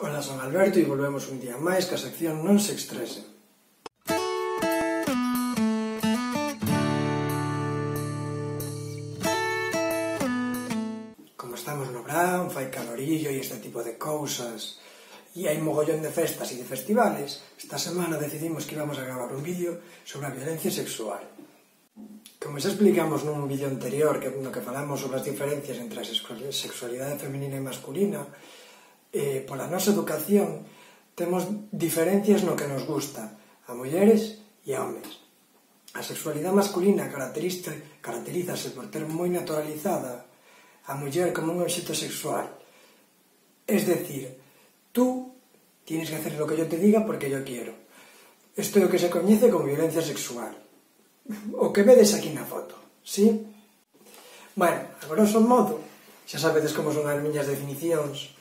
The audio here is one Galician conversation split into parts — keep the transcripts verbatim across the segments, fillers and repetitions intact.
Ola, son Alberto e volvemos un día máis ca sección Non se estresen. Como estamos no verán, fai calorillo e este tipo de cousas, e hai mogollón de festas e de festivales, esta semana decidimos que íbamos a gravar un vídeo sobre a violencia sexual. Como xa explicamos nun vídeo anterior no que falamos sobre as diferencias entre a sexualidade feminina e masculina, eh, pola nosa educación temos diferencias no que nos gusta a mulleres e a homes. A sexualidade masculina caracterízase por ter moi naturalizada a muller como un obxecto sexual. Es decir, tú tienes que hacer lo que yo te diga porque yo quiero. Isto é o que se coñece como violencia sexual. O que vedes aquí na foto, sí? Bueno, a grosso modo, xa sabedes como son as miñas definicións.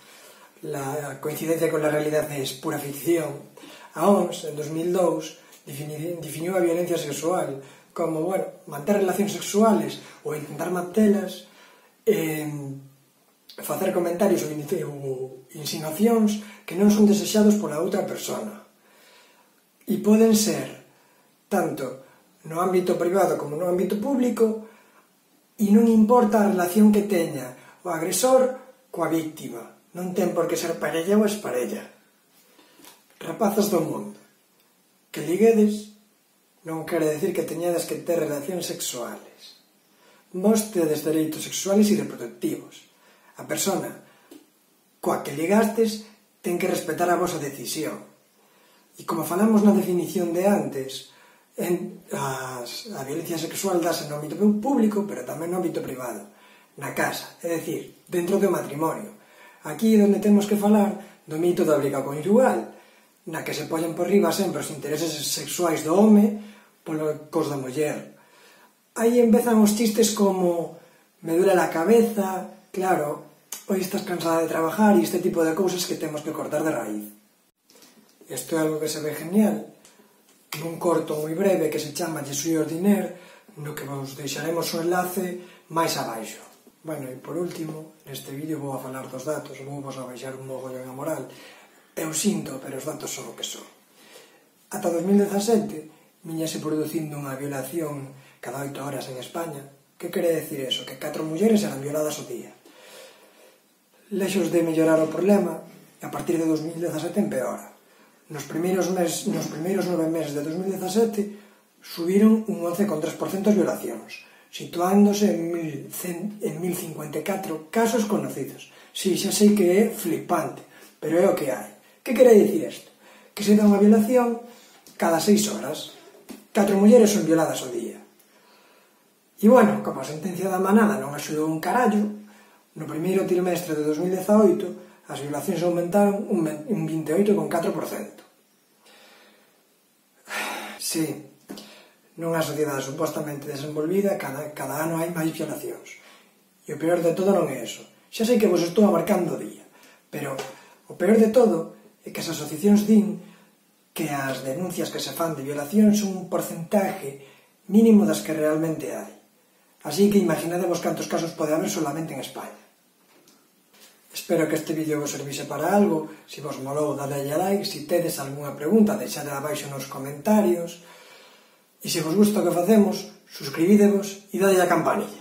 La coincidencia con la realidade é pura ficción. A O M S, en dos mil dous, definiu a violencia sexual como, bueno, manter relacións sexuales ou intentar mantelas, eh, facer comentarios ou insinuacións que non son desexados pola outra persona. E poden ser tanto no ámbito privado como no ámbito público, e non importa a relación que teña o agresor coa víctima. Non ten por que ser parella ou esparella. Rapazas do mundo, que liguedes non quere decir que teñades que ter relacións sexuales. Vos tedes dereitos sexuales e reproductivos. A persona coa que ligastes ten que respetar a vosa decisión. E como falamos na definición de antes, en, as, a violencia sexual dase no ámbito público, pero tamén no ámbito privado, na casa, é dicir, dentro do matrimonio. Aquí é onde temos que falar do mito da obriga conjugal, na que se poñen por riba sempre os intereses sexuais do home polo cos da muller. Aí empezan os chistes como me duele la cabeza, claro, hoy estás cansada de trabajar e este tipo de cousas que temos que cortar de raíz. Isto é algo que se ve genial nun corto moi breve que se chama Je suis ordinaire, no que vos deixaremos o enlace máis abaixo. Bueno, e por último, neste vídeo vou a falar dos datos, vou vos a baixar un mogollón a moral. Eu sinto, pero os datos son o que son. Ata dos mil dezasete, viñase producindo unha violación cada oito horas en España. Que quere decir eso? Que catro mulleres eran violadas ao día. Lexos de mellorar o problema, a partir de dos mil dezasete empeora. Nos primeiros, mes, nos primeiros nove meses de dos mil dezasete subiron un once coma tres por cento as violacións, situándose en mil cincuenta e catro casos conocidos. Si, xa sei que é flipante, pero é o que hai. Que quere dicir isto? Que se dá unha violación cada seis horas. Catro mulleres son violadas ao día. E, bueno, como a sentencia da manada non axudou un carallo, no primeiro trimestre de dos mil dezaoito as violacións aumentaron un vinte e oito coma catro por cento. Si, nunha sociedade supostamente desenvolvida, cada, cada ano hai máis violacións. E o peor de todo non é eso. Xa sei que vos estou abarcando o día, pero o peor de todo é que as asociacións din que as denuncias que se fan de violación son un porcentaje mínimo das que realmente hai. Así que imaginadevos cantos casos pode haber solamente en España. Espero que este vídeo vos servise para algo. Se vos molou, dadelle a like. Se tedes algunha pregunta, deixade abaixo nos comentarios. E se vos gusta o que facemos, suscribidevos e dadelle a campanilla.